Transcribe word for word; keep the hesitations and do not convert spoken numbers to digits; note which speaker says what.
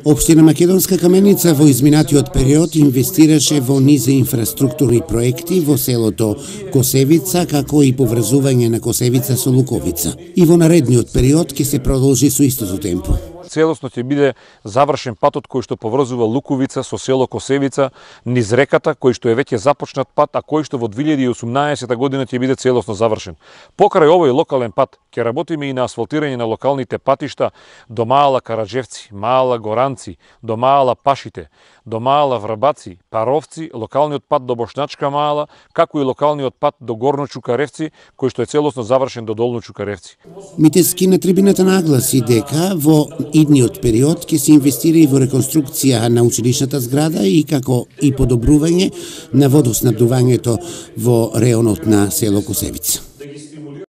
Speaker 1: Општина Македонска Каменица во изминатиот период инвестираше во низ инфраструктурни проекти во селото Косевица, како и поврзување на Косевица со Луковица. И во наредниот период ќе се продолжи со истото темпо.
Speaker 2: Целосно ќе биде завршен патот кој што поврзува Луковица со село Косевица низ реката, кој што е веќе започнат пат, а кој што во две илјади и осумнаесета година ќе биде целосно завршен. Покрај овој локален пат ќе работиме и на асфалтирање на локалните патишта до Мала Караджевци, Мала Горанци, до Мала Пашите, до Мала Врбаци, Паровци, локалниот пат до Бошначка Мала, како и локалниот пат до Горно Чукаревци, кој што е целосно завршен до Долно Чукаревци.
Speaker 1: Митески на трибината нагласи дека во идниот период ќе се инвестира и во реконструкција на училишната зграда и како и подобрување на водоснабдувањето во реонот на село Косевица.